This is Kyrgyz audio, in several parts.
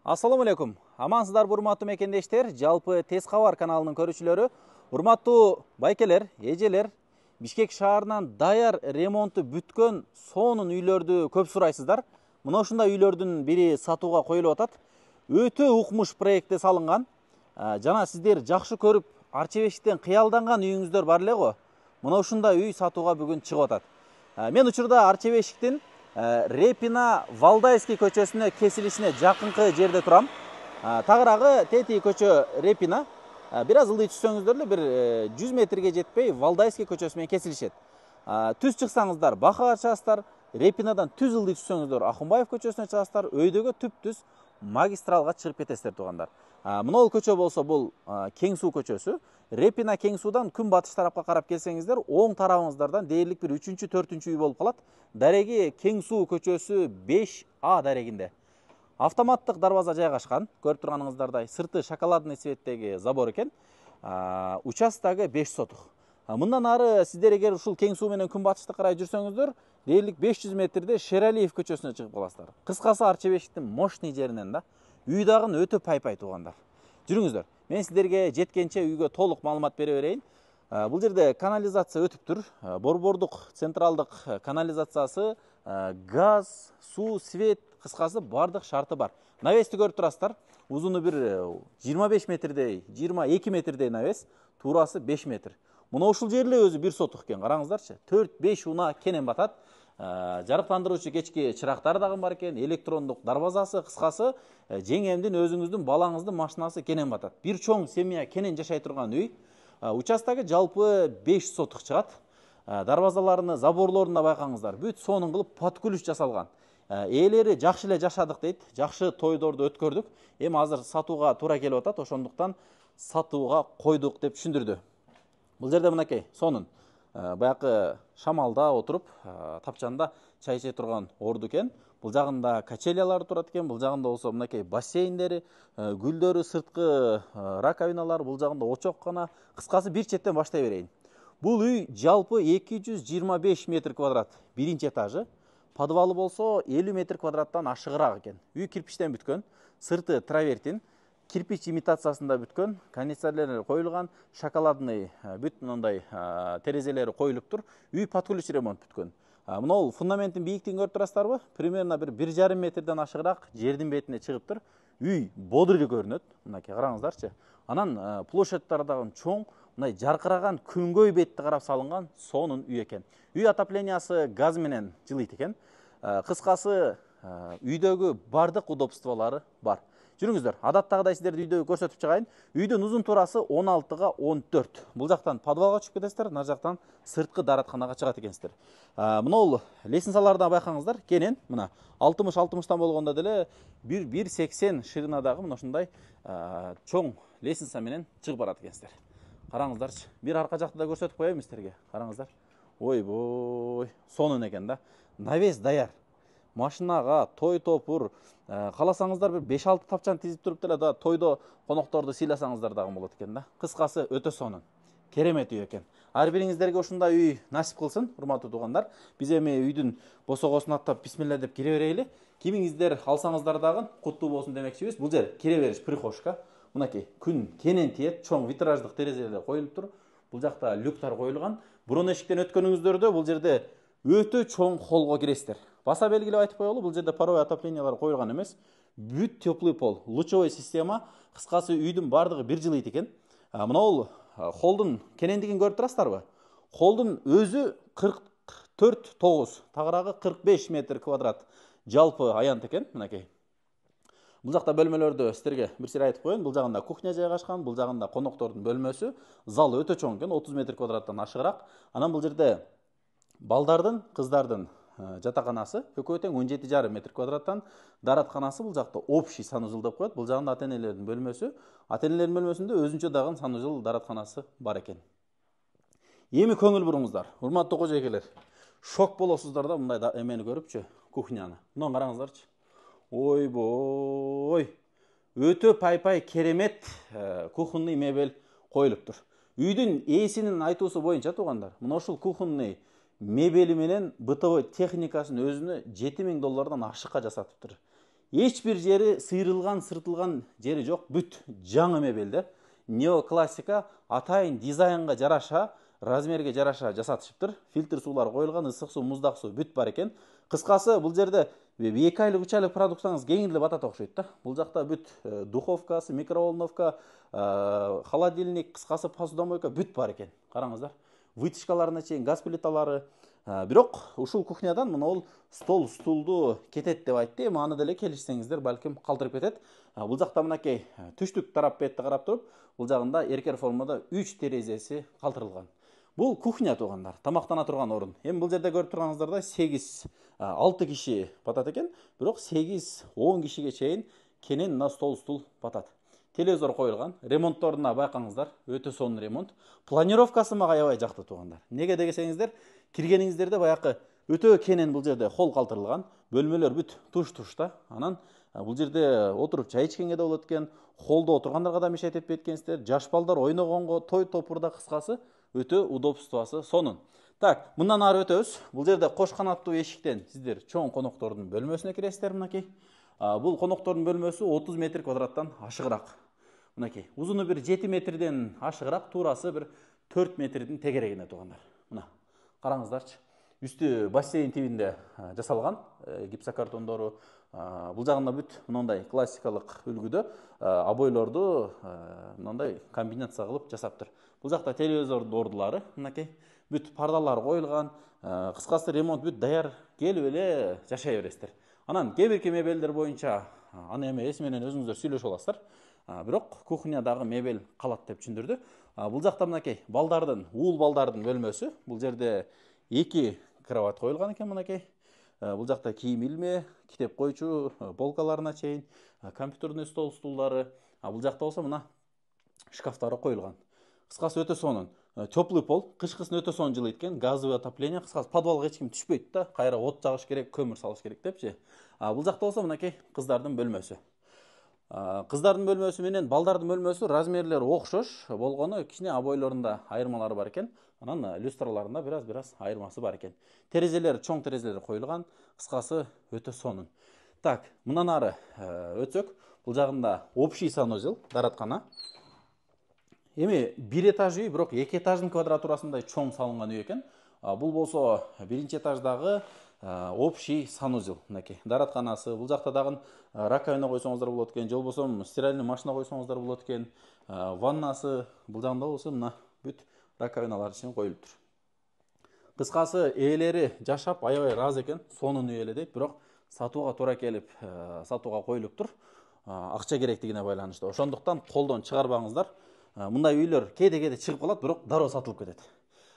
Ассаламу алейкум. Амансыздарбы урматтуу мекендештер, жалпы Тез кабар каналынын көрүүчүлөрү, урматтуу байкелер, эжелер, Бишкек шаарынан даяр ремонту бүткөн сонун үйлөрдү көп сурайсыздар. Мына ушундай үйлөрдүн бири сатууга коюлуп атат. Өтө укмуш проектте салынган. Жана сиздер жакшы көрүп, Арчебештиктен кыялданган үйүңүздөр бар эле го. Мына ушундай үй сатууга бүгүн чыгып атат. Мен учурда Арчебештиктин Репина Валдайский көчөсүнө кесилишине жакынкы жерде турам. Тагыраагы тети көчө Репина. Бир аз ылдый түшсөңүздөр эле бир 100 метрге жетпей Валдайский көчөсү менен кесилишет. Түз чыксаңыздар Бакага чыгасыздар, Репинадан түз ылдый түшсөңүздөр Акунбаев көчөсүнө чыгасыздар, өйдөгө түп-түз магистралга чыгып кетесиздер туугандар. Мына көчө болсо бул Кең суу көчөсү. Репина Кең суудан күн батыш тарапка карап келсеңиздер, оң тарабыңыздардан дээрлик бир 3-4 үй болуп калат. Дареги Кең суу көчөсү 5А дарегинде. Автоматтык дарбаза жайгашкан. Көрүп турганыңыздардай, сырты шоколадный цветтеги забор экен. Участогу 5 сотук. Мындан ары сиздер эгер ушул Кең суу менен күн батышты карай жүрсөңүздөр, дээрлик 500 метрде Шералиев көчөсүнө чыгып каласыздар. Кыскасы Арчебештиктин мощный жеринен да. Үй дагы өтө пай-пай туугандар. Жүрүңүздөр. Мен сиздерге жеткенче үйгө толук маалымат бере берейин. Бул жерде канализация өтүп тур. Борбордук централдык канализациясы, газ, суу, свет, кыскасы бардык шарты бар. Навести көрүп турасыздар. Узуну бир 25 метрдей, 22 метрдей навес, туурасы 5 метр. Мына ушул жер эле өзү 1 сотук экен. Караңыздарчы. 4-5 уна кенен батат. Жарыктандыруучу кечки чырактары дагы бар экен, электрондук дарбазасы, кыскасы жеңемдин, өзүңүздүн, балаңыздын машинасы кенен батат. Бир чоң семья кенен жашай турган үй. Участогу жалпы 5 сотук чыгат. Дарбазаларыны, заборлоруна байкаңыздар. Бүт сонун кылып под ключ жасалган. Ээлери жакшы эле жашадык дейт. Жакшы тойдорду өткөрдүк. Эми азыр сатууга туура келип атат. Ошондуктан сатууга койдук деп түшүндүрдү. Бул жерде мынакей сонун баякы шамалда отуруп, тапчанда чай иче турган орду экен. Бул жагында качелялар турат экен, бул жагында болсо мынакей бассейндери, гүлдөрү, сырткы раковиналар, бул жагында очоккана. Кыскасы бир четтен баштай берейин. Бул үй жалпы 225 метр квадрат, биринчи этажы. Подвалы болсо 50 метр квадраттан ашыгыраак экен. Үй кирпичтен бүткөн, сырты травертин, кирпич имитациясында бүткөн, кондиционерлер коюлган, шоколадный бүт мындай терезелери коюлуп тур. Үй под ключ ремонт бүткөн. Мына фундаментин бийиктигин көрүп турасыздарбы? Примерно бир 1,5 метрден ашыгыраак жердин бетине чыгып тур. Үй бодрый көрүнөт. Мынакей караңыздарчы. Анан площадьтары дагы чоң, мындай жаркыраган күнгөй бетти карап салынган сонун үй экен. Үй отоплениясы газ менен жылыйт экен. Кыскасы үйдөгү бардык удобстволору бар. Жүрүңүздөр. Адаттагыдай сиздерди үйдө көрсөтүп чыгайын. Үйдүн узун туурасы 16га 14. Бул жактан подвалга чыгып кетесиздер, нар жактан сырткы даратканага чыгат экенсиздер. Мына лестницалардан байкаңыздар, кенен мына 60-60тан болгондо деле 1,80 ширинадагы мына ушундай чоң лестница менен чыгып барат экенсиздер. Караңыздарчы. Бир арка жакты да көрсөтүп коеюн сиздерге. Караңыздар. Ойбой, сонун экен да. Навес даяр. Машинага, той топур, кааласаңыздар бир 5-6 тапчан тизип туруп деле да тойдо конокторду сыйласаңыздар дагы болот экен да. Кыскасы өтө сонун. Керемет үй экен. Ар бириңиздерге ушундай үй насип кылсын, урматтуу туугандар. Биз эми үйдүн босогосун аттап бисмилла деп кире берели. Кимиңиздер алсаңыздар дагы куттуу болсун демекчибиз. Бул жер кире бериш прихожка. Мынакей күн кенен тиет, чоң витраждык терезелер коюлуп тур. Бул жакта люктар коюлган. Бурун эшиктен өткөнүңүздөрдө бул жерде өтө чоң холго киресиздер. Баса белгилеп айтып коелу, бул жерде паровой отоплениялар коюлган эмес. Бүт теплый пол, лучевой система, кыскасы үйдүн бардыгы бир жылыйт экен. Мына холдун кенендигин көрүп турасыздарбы? Холдун өзү 44,9, тагыраагы 45 метр квадрат жалпы аянт экен, мынакей. Бул жакта бөлмөлөрдө сиздерге бир сыйра айтып коеюн. Бул жагында кухня жайгашкан, бул жагында коноктордун бөлмөсү, залы өтө чоң экен, 30 метр квадраттан ашыгыраак. Анан бул жерде балдардын, кыздардын жатаканасы экөө тең 17,5 метр квадраттан, даратканасы бул жакта общий санузел деп коет. Бул жагында ата-энелердин бөлмөсү. Ата-энелердин бөлмөсүндө өзүнчө дагы санузел, даратканасы бар экен. Эми көңүл буруңуздар, урматтуу кожойкелер. Шок болосуздар да мындай эмени көрүпчү, кухняны. Мына караңыздарчы. Ойбой. Өтө пай-пай керемет кухонный мебель коюлуп тур. Үйдүн ээсинин айтуусу боюнча туугандар, мына ушул кухонный мебели менен бытовой техникасын өзүнө $7,000 ашыкка жасатып тур. эч бир жери сыйрылган сыртылган жери жок, бүт жаңы мебелдер. Неоклассика атайын дизайнга жараша, размерге жараша жасатышыптыр. Фильтр суулар коюлган, ысык суу, муздак суу бүт бар экен. Кыскасы бул жерде 2 айлык 3 айлык продукцияңыз кеңирлеп атат окшойт да. Бул жакта бүт духовкасы, микроволновка, холодильник, кыскасы посудомойка бүт бар экен. Караңыздар. Вытяжкаларына чейин газ плиталары. Бирок ушул кухнядан мына стол, стулду кетет деп айтты. Эми аны деле келишсеңиздер, балким калтырып кетет. Бул жакта мынакей түштүк тарап бетти карап туруп, бул жагында эркер формада 3 терезеси калтырылган. Бул кухня туугандар, тамактана турган орун. Эми бул жерде көрүп турганыңыздардай 6 киши батат экен, бирок 8-10 кишиге чейин кенен мына стол, стул батат. Телевизор коюлган, ремонтторуна байкаңыздар, өтө сонун ремонт. Планировкасы мага аябай жакты туугандар. Неге десеңиздер, киргениңиздерде баякы өтө кенен бул жерде холл калтырылган, бөлмөлөр бүт туш-тушта. Анан бул жерде отуруп чай ичкенге да болот экен, холлдо отургандарга да мешайт этпейт экенсиздер, жаш балдар ойногонго, той топурда, кыскасы өтө удобствосу сонун. Так, мындан ары өтөбүз. Бул жерде кош канаттуу эшиктен сиздер чоң коноктордун бөлмөсүнө киресиздер мынакей. Бул коноктордун бөлмөсү 30 метр квадраттан ашыгыраак. Мынакей, узуну бир 7 метрден ашыгыраак, туурасы бир 4 метрдин тегерегине туугандар. Мына, караңыздарчы. Үстү бассейн тибинде жасалган, гипсокартондору. Бул жагында бүт мындай классикалык үлгүдө обойлорду мындай комбинация кылып жасаптыр. Бул жакта телевизордун ордулары, мынакей, бүт пардалар коюлган, кыскасы ремонт бүт даяр, келип эле жашай бересиздер. Анан кээ-бирки мебелдер боюнча аны эми эси менен өзүңүздөр сүйлөшүп аласыздар. Бирок кухнядагы мебель калат деп түшүндүрдү. Бул жакта мынакей уул балдардын бөлмөсү. Бул жерде 2 кровать коюлган экен мынакей. Бул жакта кийим илме, китеп койчу, полкаларына чейин, компьютерный стол, стулдары. Бул жакта болсо мына шкафтары коюлган. Кыскасы өтө сонун. Теплый пол, кышкысын өтө сонун жылыйт экен, газовый отопление. Кыскасы подвалга эч ким түшпөйт да, кайра от жагыш керек, көмүр салыш керек депчи. Бул жакта болсо мынакей кыздардын бөлмөсү. Кыздардын бөлмөсү менен балдардын бөлмөсү размерлери окшош болгону, кичине обойлорунда айырмалары бар экен. Анан люстраларында бираз айырмасы бар экен. Терезелер, чоң терезелер коюлган. Кыскасы өтө сонун. Так, мындан ары өтсөк, бул жагында общий санузел, даараткана. Эми 1 этаж үй, бирок 2 этаждын квадратурасындай чоң салынган үй экен. Бул болсо 1-чи этаждагы общий санузел, мынакей. Дааратканасы, бул жакта дагы раковина койсоңуздар болот экен, же болбосо стиральный машина койсоңуздар болот экен. Ваннасы, бул жагында болсо мына бүт раковиналар үчүн коюлуптур. Кыскасы ээлери жашап аябай ыраазы экен, сонун үй эле дейт, бирок сатууга туура келип, сатууга коюлуптур. Акча керектигине байланыштуу. Ошондуктан колдон чыгарбаңыздар. Мындай үйлөр кээде чыгып калат, бирок дароо сатылып кетет.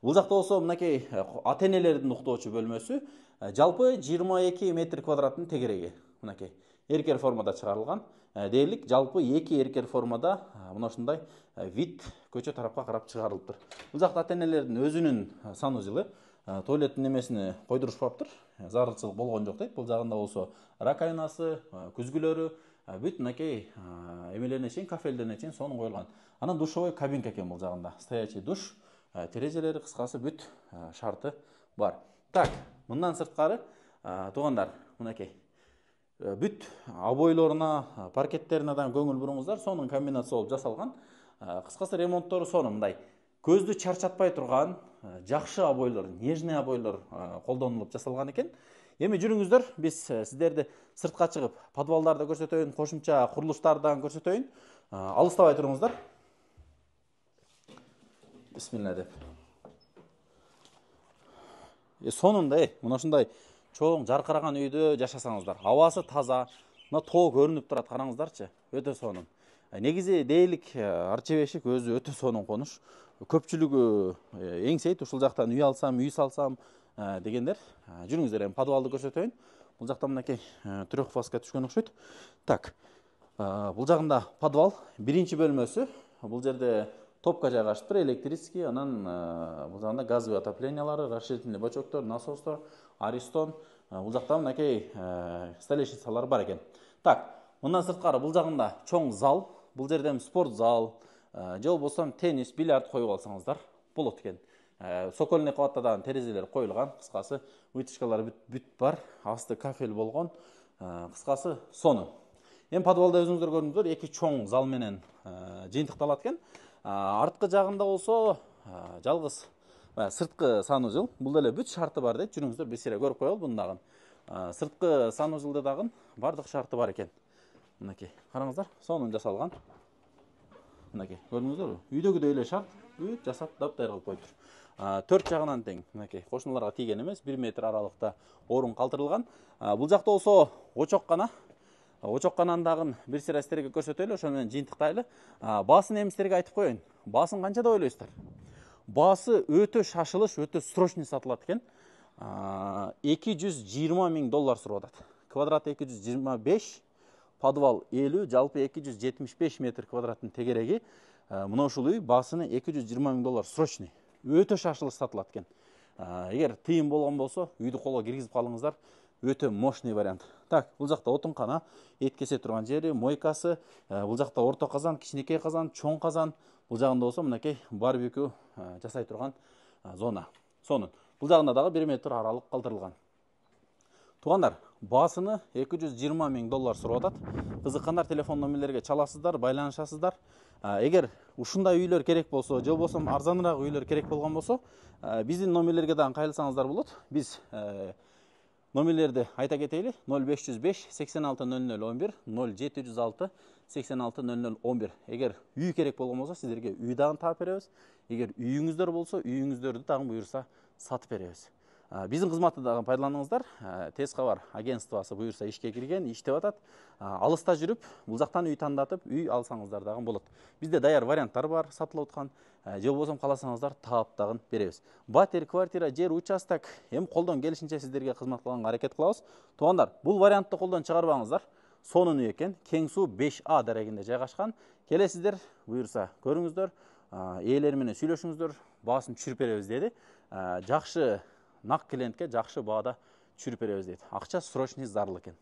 Бул жакта болсо мынакей ата-энелердин уктоочу бөлмөсү, жалпы 22 метр квадраттын тегереги. Мынакей эркер формада чыгарылган. Дээрлик жалпы 2 эркер формада мына ушундай вид көчө тарапка карап чыгарылыптыр. Бул жакта ата-энелердин өзүнүн санузелы, туалеттин немесини койдурушпаптыр. Зарылчылык болгон жок дейт. Бул жагында болсо раковинасы, күзгүлөрү бүт мынакей эмелерине чейин, кафелдерине чейин сонун коюлган. Анан душевой кабинка экен бул жагында. Стоячий душ, терезелери, кыскасы бүт шарты бар. Так, мындан сырткары туугандар, мынакей бүт обойлоруна, паркеттерине да көңүл буруңуздар, сонун комбинация болуп жасалган. Кыскасы ремонттору сонун, мындай көздү чарчатпай турган жакшы обойлор, нежный обойлор колдонулуп жасалган экен. Эми жүрүңүздөр, биз сиздерди сыртка чыгып, подвалдарды көрсөтөйүн, кошумча курулуштардан көрсөтөйүн. Алыстабай туруңуздар. Бисмилла деп. Сонун да, мына ушундай чоң жаркыраган үйдө жашасаңыздар. Абасы таза, мына тоо көрүнүп турат, караңыздарчы. Өтө сонун. Негизи дээрлик арча бешик өзү өтө сонун конуш. Көпчүлүгү эңсейт, ушул жактан үй алсам, үй салсам дегендер. Жүрүңүздөр, эми подвалды көрсөтөйүн. Бул жакта мынакей трёхфазга түшкөн окшойт. Так. Бул жагында подвал, 1-чи бөлмөсү. Бул жерде топка жайгашыптыр, электрический, анан бул жагында газовый отоплениялары, расширительный бачоктор, насостор, аристон. Бул жакта мынакей столешницалар бар экен. Так, мындан сырткары бул жагында чоң зал, бул жерде спорт зал, же болбосо теннис, бильярд коюп алсаңыздар болот экен. Сокольный кабатта дагы терезелер коюлган, кыскасы вытяжкалар бүт бар, асты кафель болгон. кыскасы сонун. Эми подвалда өзүңүздөр көрдүңүздөр, эки чоң зал менен жыйынтыкталат экен. Арткы жагында болсо жалгыз сырткы санузел. Бул деле бүт шарты бар дейт. Жүрүңүздөр бир сире көрүп коелу буну дагы. Сырткы санузелде дагы бардык шарты бар экен. Мынакей, караңыздар, сонун жасалган. Мынакей, көрдүңүздөрбү? Үйдөгүдөй эле шарт, бүт жасап таптайыр кылып коюптур. 4 жагынан тең, мынакей, кошуналарга тийген эмес, 1 метр аралыкта орун калтырылган. Бул жакта болсо очоккана. Очоккананы дагы бир сире сиздерге көрсөтөлү, ошону менен жыйынтыктайлы. Баасын эми сиздерге айтып коеюн. Баасын канча деп ойлойсуздар? Баасы өтө шашылыш, өтө срочный сатылат экен. $220,000 сурап атат. Квадрат 225, подвал 50, жалпы 275 метр квадраттын тегереги. Мына ушул үй баасыны $220,000 срочный. Өтө шашылыш сатылат экен. Эгер тыйын болгон болсо, үйдү колго киргизип калыңыздар. Өтө мощный вариант. Так, бул жакта отункана, эт кесе турган жери, мойкасы, бул жакта орто казан, кичинекей казан, чоң казан. Бул жагында болсо мынакей барбекю жасай турган зона. Сонун. Бул жагында дагы 1 метр аралык калтырылган. Туугандар, баасыны $220,000 сурап атат. Кызыккандар телефон номерлерге чаласыздар, байланышасыздар. Эгер ушундай үйлөр керек болсо, же болбосо арзаныраак үйлөр керек болгон болсо, биздин номерлерге дагы кайрылсаңыздар болот. Биз номерлерди айта кетейли: 0505 860011, 0706 860011. Эгер үй керек болгон болсо, сиздерге үй дагы таап беребиз. Эгер үйүңүздөр болсо, үйүңүздөрдү дагы буюрса сатып беребиз. Биздин кызматты дагы пайдаланыңыздар. Тез кабар агентствосы буюрса ишке кирген, иштеп атат. Алыста жүрүп, бул жактан үй тандатып, үй алсаңыздар дагы болот. Бизде даяр варианттар бар, сатылып аткан. Же болбосо кааласаңыздар таап дагы беребиз. Батер, квартира, жер, участок эми колдон келишинче сиздерге кызмат кылганга аракет кылабыз. Туугандар, бул вариантты колдон чыгарбаңыздар. Сонун үй экен, Кең суу 5А дарегинде жайгашкан. Келесиздер, буюрса көрүңүздөр, ээлери менен сүйлөшүңүздөр, баасын түшүрүп беребиз деди. Жакшы нак клиентке жакшы баада түшүрүп беребиз дейт. Акча срочный зарыл экен.